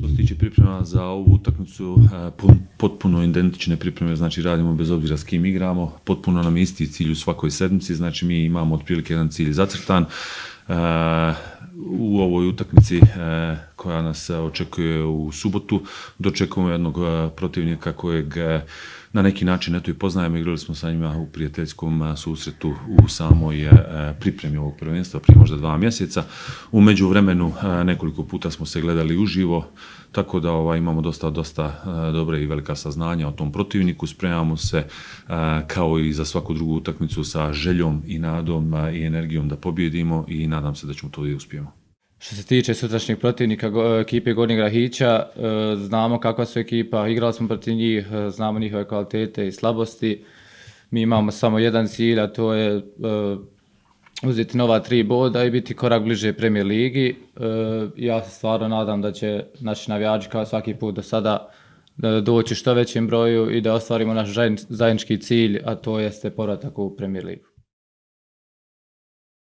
Što se tiče priprema za ovu utakmicu, potpuno identične pripreme, znači radimo bez obzira s kim igramo, potpuno nam je isti cilj u svakoj sedmici, znači mi imamo otprilike jedan cilj zacrtan. U ovoj utakmici koja nas očekuje u subotu dočekujemo jednog protivnika kojeg na neki način eto i poznajemo, igrali smo sa njima u prijateljskom susretu u samoj pripremi ovog prvenstva prije možda 2 mjeseca. U međuvremenu nekoliko puta smo se gledali uživo, tako da imamo dosta dobre i velika saznanja o tom protivniku. Spremamo se kao i za svaku drugu utakmicu sa željom i nadom i energijom da pobjedimo i nadam se da ćemo to i uspijemo. Što se tiče sutrašnjeg protivnika ekipe Gornjeg Rahića, znamo kakva su ekipa, igrali smo protiv njih, znamo njihove kvalitete i slabosti. Mi imamo samo jedan cilj, a to je uzeti nova 3 boda i biti korak bliže Premier ligi. Ja se stvarno nadam da će naši navijači kao svaki put do sada doći što većem broju i da ostvarimo naš zajednički cilj, a to jeste povratak u Premier ligu.